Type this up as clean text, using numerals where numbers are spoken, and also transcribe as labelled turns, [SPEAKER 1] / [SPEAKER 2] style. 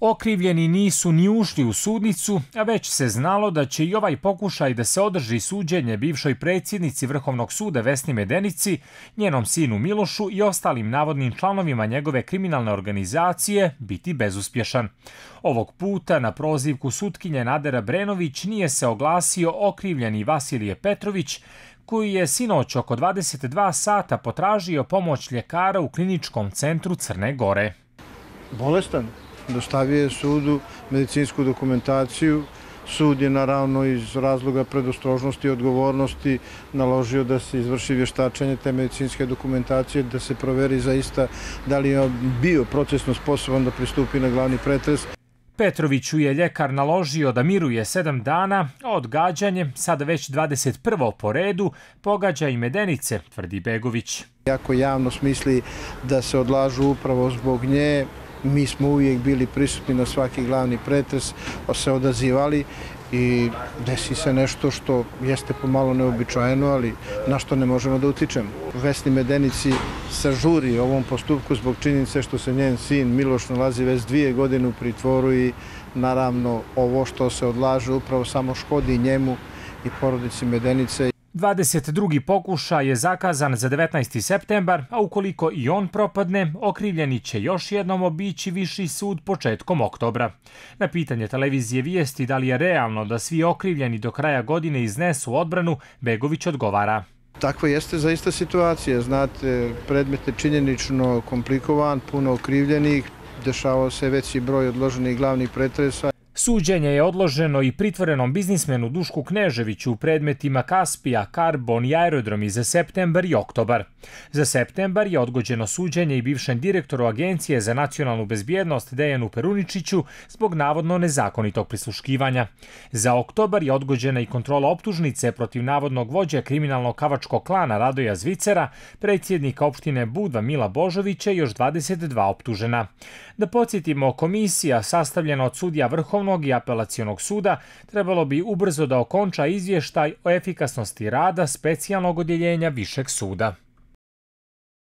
[SPEAKER 1] Okrivljeni nisu ni ušli u sudnicu, a već se znalo da će i ovaj pokušaj da se održi suđenje bivšoj predsjednici Vrhovnog suda Vesni Medenici, njenom sinu Milošu i ostalim navodnim članovima njegove kriminalne organizacije biti bezuspješan. Ovog puta na prozivku sutkinje Nadera Brenović nije se oglasio okrivljeni Vasilije Petrović, koji je sinoć oko 22 sata potražio pomoć ljekara u kliničkom centru Crne Gore.
[SPEAKER 2] Bolestan. Dostavio je sudu medicinsku dokumentaciju. Sud je naravno iz razloga predostrožnosti i odgovornosti naložio da se izvrši vještačenje te medicinske dokumentacije, da se proveri zaista da li je bio procesno sposoban da pristupi na glavni pretres.
[SPEAKER 1] Petroviću je ljekar naložio da miruje 7 dana, a odgađanje, sada već 21. po redu, pogađa i Medenice, tvrdi Begović.
[SPEAKER 2] Ako javnost misli da se odlažu upravo zbog nje, mi smo uvijek bili prisutni na svaki glavni pretres, se odazivali i desi se nešto što jeste pomalo neobičajeno, ali na što ne možemo da utičemo. Vesni Medenici se žuri ovom postupku zbog činjenice što se njen sin Miloš nalazi već 2 godine u pritvoru i naravno ovo što se odlaže upravo samo škodi njemu i porodici Medenice.
[SPEAKER 1] 22. pokušaj je zakazan za 19. septembar, a ukoliko i on propadne, okrivljeni će još jednom obići viši sud početkom oktobra. Na pitanje televizije Vijesti da li je realno da svi okrivljeni do kraja godine iznesu odbranu, Begović odgovara.
[SPEAKER 2] Takva jeste zaista situacija. Znate, predmet je činjenično komplikovan, puno okrivljenih, dešavao se veći broj odloženih glavnih pretresa.
[SPEAKER 1] Suđenje je odloženo i pritvorenom biznismenu Dušku Kneževiću u predmetima Kaspija, Karbon i Aerodromi za septembar i oktobar. Za septembar je odgođeno suđenje i bivšem direktoru Agencije za nacionalnu bezbjednost Dejanu Peruničiću zbog navodno nezakonitog prisluškivanja. Za oktobar je odgođena i kontrola optužnice protiv navodnog vođe kriminalnog kavačkog klana Radoja Zvicera, predsjednika opštine Budva Mila Božovića i još 22 optužena. Da podsjetimo, komisija sastavljena od sudija Vrhovnog i Apelacionog suda trebalo bi ubrzo da okonča izvještaj o efikasnosti rada specijalnog odjeljenja Višeg suda.